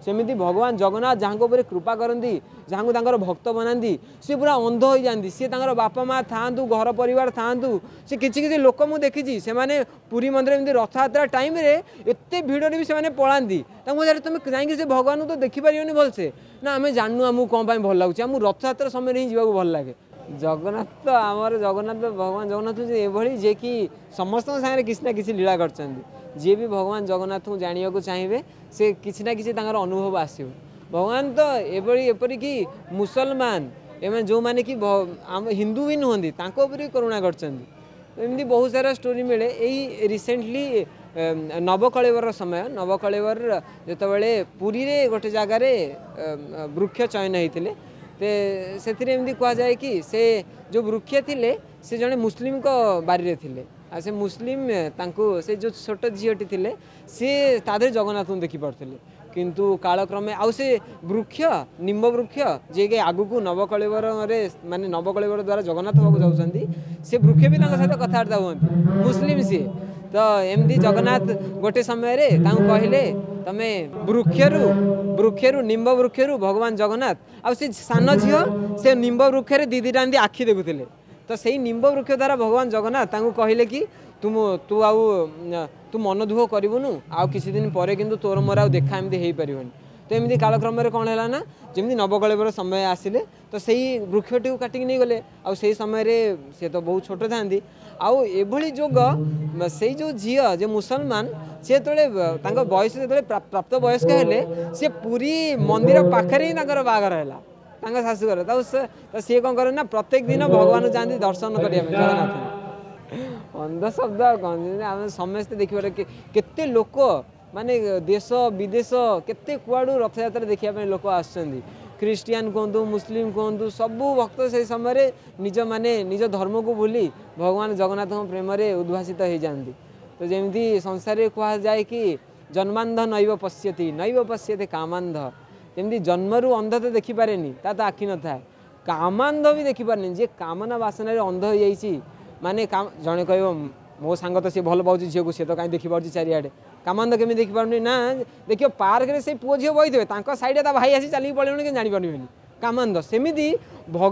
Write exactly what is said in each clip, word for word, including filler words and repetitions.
ସେମିତି ଭଗବାନ ଜଗନ୍ନାଥ ଯାହାଙ୍କ ଉପରେ କୃପା କରନ୍ତି, ଯାହାଙ୍କୁ ତାଙ୍କର ଭକ୍ତ ବନାନ୍ତି, ସିଏ ପୁରା ଅନ୍ଧ ହୋଇଯାଆନ୍ତି। ସିଏ ତାଙ୍କର ବାପା ମା ଥାଆନ୍ତୁ, ଘର ପରିବାର ଥାଆନ୍ତୁ, ସେ କିଛି କିଛି ଲୋକ ମୁଁ ଦେଖିଛି, ସେମାନେ ପୁରୀ ମନ୍ଦିର ଏମିତି ରଥଯାତ୍ରା ଟାଇମ୍ରେ ଏତେ ଭିଡ଼ରେ ବି ସେମାନେ ପଳାନ୍ତି। ତାଙ୍କୁ ପଚାରେ, ତୁମେ ଯାଇକି ସେ ଭଗବାନଙ୍କୁ ତ ଦେଖିପାରିବନି ଭଲସେ? ନା, ଆମେ ଜାଣିନୁ ଆମକୁ କ'ଣ ପାଇଁ ଭଲ ଲାଗୁଛି, ଆମକୁ ରଥଯାତ୍ରା ସମୟରେ ହିଁ ଯିବାକୁ ଭଲ ଲାଗେ। ଜଗନ୍ନାଥ ତ ଆମର ଜଗନ୍ନାଥ, ଭଗବାନ ଜଗନ୍ନାଥ ଏଭଳି ଯିଏକି ସମସ୍ତଙ୍କ ସାଙ୍ଗରେ କିଛି ନା କିଛି ଲୀଳା କରିଛନ୍ତି। ଯିଏ ବି ଭଗବାନ ଜଗନ୍ନାଥଙ୍କୁ ଜାଣିବାକୁ ଚାହିଁବେ, ସେ କିଛି ନା କିଛି ତାଙ୍କର ଅନୁଭବ ଆସିବ। ଭଗବାନ ତ ଏଭଳି, ଏପରିକି ମୁସଲମାନ ଏମାନେ ଯେଉଁମାନେ କି ଆମ ହିନ୍ଦୁ ବି ନୁହନ୍ତି, ତାଙ୍କ ଉପରେ ବି କରୁଣା କରିଛନ୍ତି। ଏମିତି ବହୁତ ସାରା ଷ୍ଟୋରି ମିଳେ। ଏଇ ରିସେଣ୍ଟଲି ନବକଳେବର ସମୟ, ନବକଳେବର ଯେତେବେଳେ ପୁରୀରେ ଗୋଟେ ଜାଗାରେ ବୃକ୍ଷ ଚୟନ ହେଇଥିଲେ, ସେଥିରେ ଏମିତି କୁହାଯାଏ କି ସେ ଯେଉଁ ବୃକ୍ଷ ଥିଲେ, ସେ ଜଣେ ମୁସଲିମଙ୍କ ବାରିରେ ଥିଲେ। ଆଉ ସେ ମୁସଲିମ ତାଙ୍କୁ, ସେ ଯେଉଁ ଛୋଟ ଝିଅଟି ଥିଲେ, ସିଏ ତା ଦେହରେ ଜଗନ୍ନାଥଙ୍କୁ ଦେଖିପାରୁଥିଲେ। କିନ୍ତୁ କାଳକ୍ରମେ ଆଉ ସେ ବୃକ୍ଷ, ନିମ୍ବ ବୃକ୍ଷ, ଯିଏକି ଆଗକୁ ନବକଳେବରରେ, ମାନେ ନବକଳେବର ଦ୍ୱାରା ଜଗନ୍ନାଥ ହେବାକୁ ଯାଉଛନ୍ତି, ସେ ବୃକ୍ଷ ବି ତାଙ୍କ ସହିତ କଥାବାର୍ତ୍ତା ହୁଅନ୍ତି, ମୁସଲିମ ସିଏ। ତ ଏମିତି ଜଗନ୍ନାଥ ଗୋଟେ ସମୟରେ ତାଙ୍କୁ କହିଲେ, ତମେ ବୃକ୍ଷରୁ ବୃକ୍ଷରୁ ନିମ୍ବ ବୃକ୍ଷରୁ ଭଗବାନ ଜଗନ୍ନାଥ ଆଉ ସେ ସାନ ଝିଅ ସେ ନିମ୍ବ ବୃକ୍ଷରେ ଦି ଦିଟା ଏମିତି ଆଖି ଦେଖୁଥିଲେ। ତ ସେଇ ନିମ୍ବ ବୃକ୍ଷ ଦ୍ୱାରା ଭଗବାନ ଜଗନ୍ନାଥ ତାଙ୍କୁ କହିଲେ କି ତୁ ତୁ ଆଉ ତୁ ମନ ଦୁଃଖ କରିବୁନୁ, ଆଉ କିଛି ଦିନ ପରେ କିନ୍ତୁ ତୋର ମୋର ଆଉ ଦେଖା ଏମିତି ହେଇପାରିବନି। ତ ଏମିତି କାଳକ୍ରମରେ କ'ଣ ହେଲା ନା, ଯେମିତି ନବକଳେବର ସମୟ ଆସିଲେ, ତ ସେଇ ବୃକ୍ଷଟିକୁ କାଟିକି ନେଇଗଲେ। ଆଉ ସେଇ ସମୟରେ ସେ ତ ବହୁତ ଛୋଟ ଥାନ୍ତି। ଆଉ ଏଭଳି ଯୋଗ, ସେଇ ଯେଉଁ ଝିଅ ଯେ ମୁସଲମାନ, ସେ ଯେତେବେଳେ ତାଙ୍କ ବୟସ ଯେତେବେଳେ ପ୍ରାପ୍ତ ବୟସ୍କ ହେଲେ, ସେ ପୁରୀ ମନ୍ଦିର ପାଖରେ ହିଁ ତାଙ୍କର ବାହାଘର ହେଲା ତାଙ୍କ ଶାଶୁଘର। ତାକୁ ସେ ସିଏ କ'ଣ କରେ ନା, ପ୍ରତ୍ୟେକ ଦିନ ଭଗବାନ ଯାଆନ୍ତି ଦର୍ଶନ କରିବା ପାଇଁ ଜଗନ୍ନାଥ। ଅନ୍ଧ ଶବ୍ଦ ଆଉ କ'ଣ, ଆମେ ସମସ୍ତେ ଦେଖିବାର କେତେ ଲୋକ, ମାନେ ଦେଶ ବିଦେଶ କେତେ କୁଆଡ଼ୁ ରଥଯାତ୍ରା ଦେଖିବା ପାଇଁ ଲୋକ ଆସୁଛନ୍ତି। ଖ୍ରୀଷ୍ଟିଆନ କୁହନ୍ତୁ, ମୁସଲିମ କୁହନ୍ତୁ, ସବୁ ଭକ୍ତ ସେଇ ସମୟରେ ନିଜ ମାନେ ନିଜ ଧର୍ମକୁ ଭୁଲି ଭଗବାନ ଜଗନ୍ନାଥଙ୍କ ପ୍ରେମରେ ଉଦ୍ଭାସିତ ହେଇଯାଆନ୍ତି। ତ ଯେମିତି ସଂସାରରେ କୁହାଯାଏ କି ଜନ୍ମାନ୍ଧ ନୈବ ପଶ୍ୟତି ନୈବ ପଶ୍ୟତି କାମାନ୍ଧ, ଯେମିତି ଜନ୍ମରୁ ଅନ୍ଧ ତ ଦେଖିପାରେନି, ତା ତ ଆଖି ନଥାଏ, କାମାନ୍ଧ ବି ଦେଖିପାରେନି। ଯିଏ କାମନା ବାସନାରେ ଅନ୍ଧ ହେଇଯାଇଛି, ମାନେ ଜଣେ କହିବ ମୋ ସାଙ୍ଗ ତ ସିଏ ଭଲ ପାଉଛି ଝିଅକୁ, ସିଏ ତ କାହିଁ ଦେଖିପାରୁଛି ଚାରିଆଡ଼େ, କାମାନ୍ଧ କେମିତି ଦେଖିପାରୁନି? ନା, ଦେଖିବ ପାର୍କରେ ସେଇ ପୁଅ ଝିଅ ବସିଥିବେ, ତାଙ୍କ ସାଇଡ଼ରେ ତା ଭାଇ ଆସି ଚାଲିକି ପଳେଇବଣି, କିନ୍ତୁ ଜାଣିପାରିବେନି, କାମାନ୍ଧ। ସେମିତି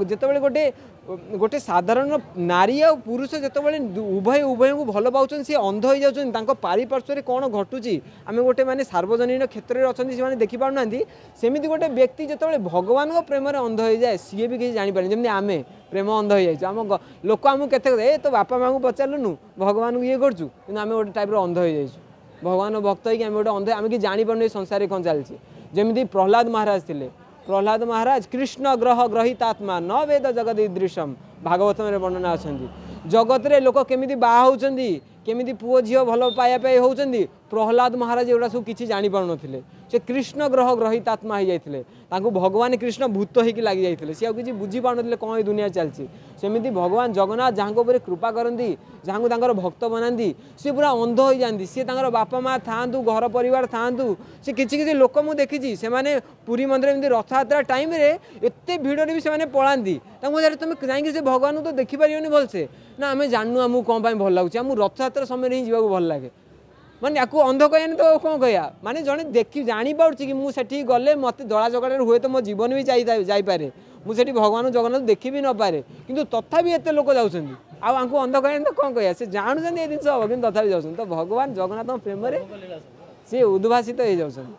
ଯେତେବେଳେ ଗୋଟେ ଗୋଟେ ସାଧାରଣ ନାରୀ ଆଉ ପୁରୁଷ ଯେତେବେଳେ ଉଭୟ ଉଭୟଙ୍କୁ ଭଲ ପାଉଛନ୍ତି, ସିଏ ଅନ୍ଧ ହେଇଯାଉଛନ୍ତି। ତାଙ୍କ ପାରିପାର୍ଶ୍ୱରେ କ'ଣ ଘଟୁଛି, ଆମେ ଗୋଟେ ମାନେ ସାର୍ବଜନୀନ କ୍ଷେତ୍ରରେ ଅଛନ୍ତି, ସେମାନେ ଦେଖିପାରୁନାହାନ୍ତି। ସେମିତି ଗୋଟେ ବ୍ୟକ୍ତି ଯେତେବେଳେ ଭଗବାନଙ୍କ ପ୍ରେମରେ ଅନ୍ଧ ହେଇଯାଏ, ସିଏ ବି କିଛି ଜାଣିପାରେନି। ଯେମିତି ଆମେ ପ୍ରେମ ଅନ୍ଧ ହେଇଯାଇଛୁ, ଆମ ଲୋକ ଆମକୁ କେତେ, ଏ ତୋ ବାପା ମାଆଙ୍କୁ ପଚାରିଲୁନୁ, ଭଗବାନଙ୍କୁ ଇଏ କରୁଛୁ, କିନ୍ତୁ ଆମେ ଗୋଟେ ଟାଇପ୍ର ଅନ୍ଧ ହେଇଯାଇଛୁ। ଭଗବାନ ଭକ୍ତ ହେଇକି ଆମେ ଗୋଟେ ଅନ୍ଧ, ଆମେ କିଛି ଜାଣିପାରୁନୁ ଏ ସଂସାରରେ କ'ଣ ଚାଲିଛି। ଯେମିତି ପ୍ରହ୍ଲାଦ ମହାରାଜ ଥିଲେ, ପ୍ରହ୍ଲାଦ ମହାରାଜ କୃଷ୍ଣ ଗ୍ରହ ଗ୍ରହିତାତ୍ମା ନ ବେଦ ଜଗତ ଦୃଶ୍ୟମ, ଭାଗବତରେ ବର୍ଣ୍ଣନା ଅଛନ୍ତି। ଜଗତରେ ଲୋକ କେମିତି ବାହା ହେଉଛନ୍ତି, କେମିତି ପୁଅ ଝିଅ ଭଲ ପାଇବା ପାଇଁ ହେଉଛନ୍ତି, ପ୍ରହ୍ଲାଦ ମହାରାଜ ଏଗୁଡ଼ା ସବୁ କିଛି ଜାଣିପାରୁନଥିଲେ। ସେ କୃଷ୍ଣ ଗ୍ରହ ଗ୍ରହିତାତ୍ମା ହେଇଯାଇଥିଲେ, ତାଙ୍କୁ ଭଗବାନ କୃଷ୍ଣ ଭୂତ ହେଇକି ଲାଗିଯାଇଥିଲେ, ସିଏ ଆଉ କିଛି ବୁଝିପାରୁନଥିଲେ କ'ଣ ଏ ଦୁନିଆ ଚାଲିଛି। ସେମିତି ଭଗବାନ ଜଗନ୍ନାଥ ଯାହାଙ୍କ ଉପରେ କୃପା କରନ୍ତି, ଯାହାଙ୍କୁ ତାଙ୍କର ଭକ୍ତ ବନାନ୍ତି, ସିଏ ପୁରା ଅନ୍ଧ ହେଇଯାଆନ୍ତି। ସିଏ ତାଙ୍କର ବାପା ମା ଥାଆନ୍ତୁ, ଘର ପରିବାର ଥାଆନ୍ତୁ, ସେ କିଛି କିଛି ଲୋକ ମୁଁ ଦେଖିଛି, ସେମାନେ ପୁରୀ ମନ୍ଦିର ଏମିତି ରଥଯାତ୍ରା ଟାଇମ୍ରେ ଏତେ ଭିଡ଼ରେ ବି ସେମାନେ ପଳାନ୍ତି। ତାଙ୍କୁ ପଚାରେ, ତୁମେ ଯାଇକି ସେ ଭଗବାନଙ୍କୁ ତ ଦେଖିପାରିବନି ଭଲସେ? ନା, ଆମେ ଜାଣିନୁ ଆମକୁ କ'ଣ ପାଇଁ ଭଲ ଲାଗୁଛି, ଆମକୁ ରଥଯାତ୍ରା ସମୟରେ ହିଁ ଯିବାକୁ ଭଲ ଲାଗେ। ମାନେ ୟାକୁ ଅନ୍ଧ କହିବାନି ତ କ'ଣ କହିବା? ମାନେ ଜଣେ ଦେଖି ଜାଣିପାରୁଛି କି ମୁଁ ସେଠିକି ଗଲେ ମୋତେ ଦଳା ଚକଟାରେ ହୁଏତ ମୋ ଜୀବନ ବି ଯାଇପାରେ, ମୁଁ ସେଠି ଭଗବାନ ଜଗନ୍ନାଥ ଦେଖି ବି ନପାରେ, କିନ୍ତୁ ତଥାପି ଏତେ ଲୋକ ଯାଉଛନ୍ତି। ଆଉ ଆଙ୍କୁ ଅନ୍ଧ କହିବାନି ତ କ'ଣ କହିବା? ସେ ଜାଣୁଛନ୍ତି ଏ ଜିନିଷ ହେବ, କିନ୍ତୁ ତଥାପି ଯାଉଛନ୍ତି। ତ ଭଗବାନ ଜଗନ୍ନାଥଙ୍କ ପ୍ରେମରେ ସିଏ ଉଦ୍ଭାସିତ ହେଇଯାଉଛନ୍ତି।